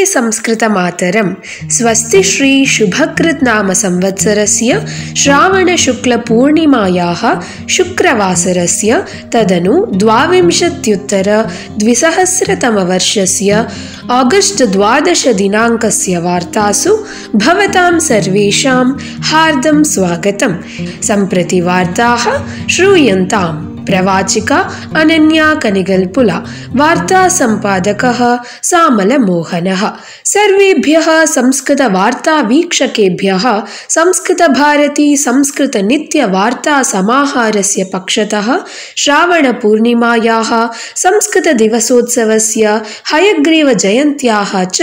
संस्कृतमातरं स्वस्ति श्री शुभकृत् नाम संवत्सरस्य श्रावणशुक्लपूर्णिमायाः शुक्रवासरस्य तदनु 2023-द्विसहस्रतमवर्षस्य आगस्ट् 12 दिनाङ्कस्य वार्तासु भवतां सर्वेषां हार्दं स्वागतं। सम्प्रति वार्ताः श्रूयन्ताम्। प्रवाचिका अनन्या कनिगल्पुला, वार्ता संपादकः सामलमोहनः। सर्वेभ्यः संस्कृतवार्ता वीक्षकेभ्यः संस्कृतभारती संस्कृतनित्यवार्ता समाहारस्य पक्षतः श्रावणपूर्णिमायाः संस्कृतदिवसोत्सवस्य हयग्रीवजयन्त्याः च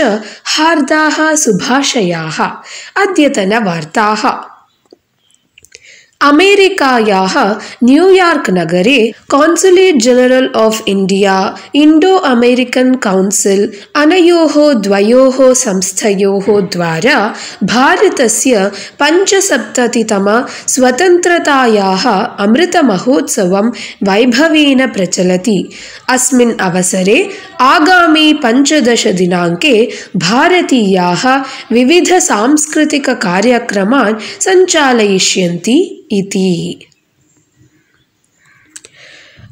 हार्दाः शुभाशयाः। अद्यतनवार्ताः। अमेरिकायाः न्यूयार्क् नगरे consulate general of India Indo American council अनयोः द्वयोः संस्थयोः द्वारा भारतस्य 75तम स्वतन्त्रतायाः अमृतमहोत्सवं वैभवेन प्रचलति। अस्मिन् अवसरे आगामी 15 दिनाङ्के भारतीयाः विविध सांस्कृतिककार्यक्रमान् सञ्चालयिष्यन्ति इति।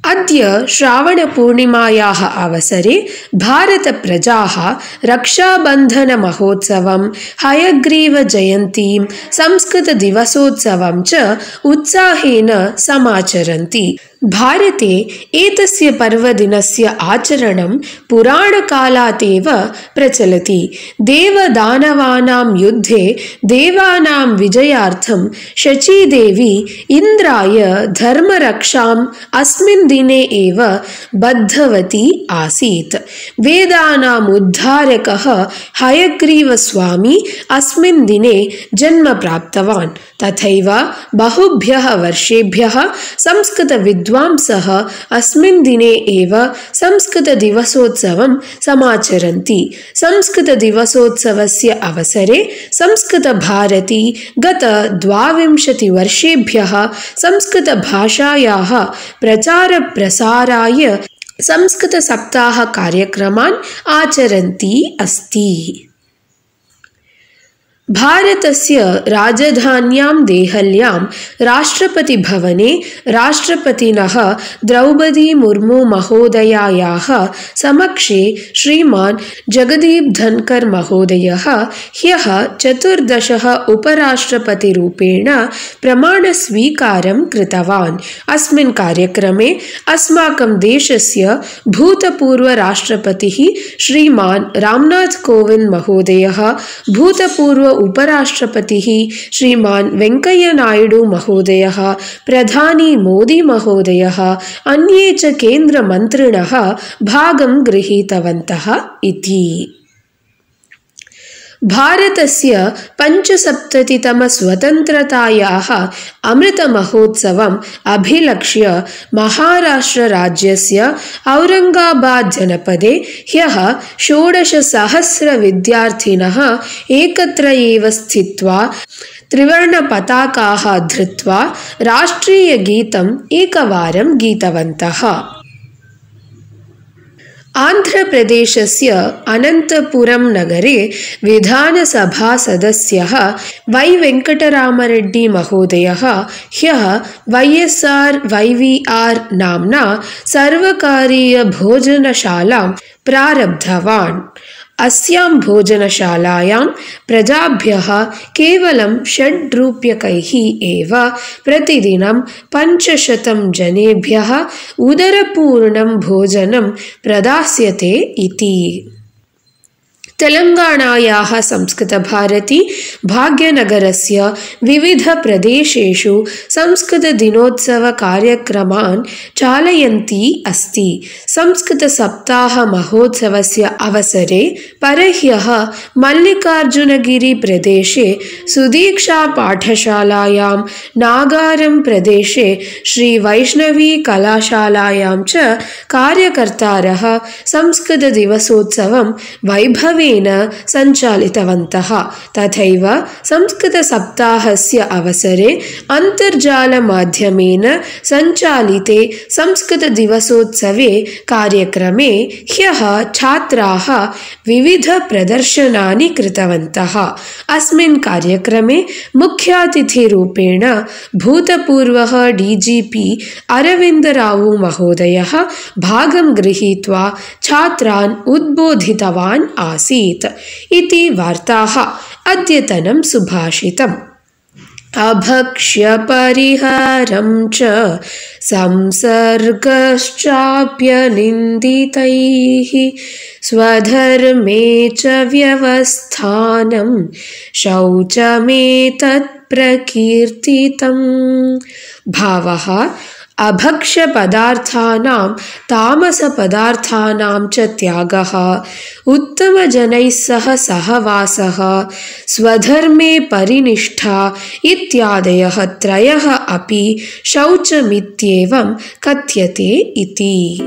अद्य श्रावणपूर्णिमायाः अवसरे भारतप्रजाः रक्षाबन्धनमहोत्सवं, हयग्रीवजयन्तीं, संस्कृतदिवसोत्सवं च उत्साहेन समाचरन्ति। भारते एतस्य पर्वदिनस्य आचरणं पुराणकालात् एव प्रचलति। देवदानवानां युद्धे देवानां विजयार्थं शचीदेवी इन्द्राय धर्मरक्षाम् अस्मिन् दिने एव बद्धवती आसीत्। वेदानाम् उद्धारकः हयग्रीवस्वामी अस्मिन् दिने जन्म प्राप्तवान्। तथैव बहुभ्यः वर्षेभ्यः संस्कृतविद्वांसः अस्मिन् दिने एव संस्कृतदिवसोत्सवं समाचरन्ति। संस्कृतदिवसोत्सवस्य अवसरे संस्कृतभारती गत 22 वर्षेभ्यः संस्कृतभाषायाः प्रचारप्रसाराय संस्कृतसप्ताहकार्यक्रमान् आचरन्ती अस्ति। भारतस्य राजधान्यां देहल्यां राष्ट्रपतिभवने राष्ट्रपतिनः द्रौपदी मुर्मू महोदयायाः समक्षे श्रीमान् जगदीप धनकर महोदयः ह्यः 14 उपराष्ट्रपतिरूपेण प्रमाणस्वीकारं कृतवान्। अस्मिन् कार्यक्रमे अस्माकं देशस्य भूतपूर्वराष्ट्रपतिः श्रीमान् रामनाथ कोविंद महोदयः, भूतपूर्व उपराष्ट्रपतिः श्रीमान् वेङ्कय्य नायडू महोदयः, प्रधानी मोदी महोदयः, अन्ये च केन्द्रमन्त्रिणः भागं गृहीतवन्तः इति। भारतस्य 75तम स्वतन्त्रतायाः अमृतमहोत्सवम् अभिलक्ष्य महाराष्ट्रराज्यस्य औरङ्गाबाद् जनपदे ह्यः 16,000 विद्यार्थिनः एकत्र एव स्थित्वा त्रिवर्णपताकाः धृत्वा राष्ट्रीयगीतम् एकवारं गीतवन्तः। आन्ध्रप्रदेशस्य अनन्तपुरं नगरे विधानसभासदस्यः वै वेङ्कटरामरेड्डी महोदयः ह्यः YSR-YVR नाम्ना सर्वकारीयभोजनशालां प्रारब्धवान्। अस्यां भोजनशालायां प्रजाभ्यः केवलं 6 रूप्यकैः एव प्रतिदिनं 500 जनेभ्यः उदरपूर्णं भोजनं प्रदास्यते इति। तेलङ्गाणायाः संस्कृतभारती भाग्यनगरस्य विविधप्रदेशेषु संस्कृतदिनोत्सवकार्यक्रमान् चालयन्ती अस्ति। संस्कृतसप्ताहमहोत्सवस्य अवसरे परह्यः मल्लिकार्जुनगिरिप्रदेशे सुदीक्षापाठशालायां, नागारं प्रदेशे श्रीवैष्णवीकलाशालायां च कार्यकर्तारः संस्कृतदिवसोत्सवं वैभवे गर्वेण सञ्चालितवन्तः। तथैव संस्कृतसप्ताहस्य अवसरे अन्तर्जालमाध्यमेन सञ्चालिते संस्कृतदिवसोत्सवे कार्यक्रमे ह्यः छात्राः विविधप्रदर्शनानि कृतवन्तः। अस्मिन् कार्यक्रमे मुख्यातिथिरूपेण भूतपूर्वः DGP अरविन्दरावु महोदयः भागं गृहीत्वा छात्रान् उद्बोधितवान् आसीत् इति वार्ताः। अद्यतनं सुभाषितम्। अभक्ष्य परिहारं च संसर्गश्चाप्यनिन्दितैः स्वधर्मे च व्यवस्थानं शौचमेतत् प्रकीर्तितम्। भावः अभक्ष्यपदार्थानां तामसपदार्थानां च त्यागः, उत्तमजनैः सह सहवासः, स्वधर्मे परिनिष्ठा इत्यादयः त्रयः अपि शौचमित्येवं कथ्यते इति।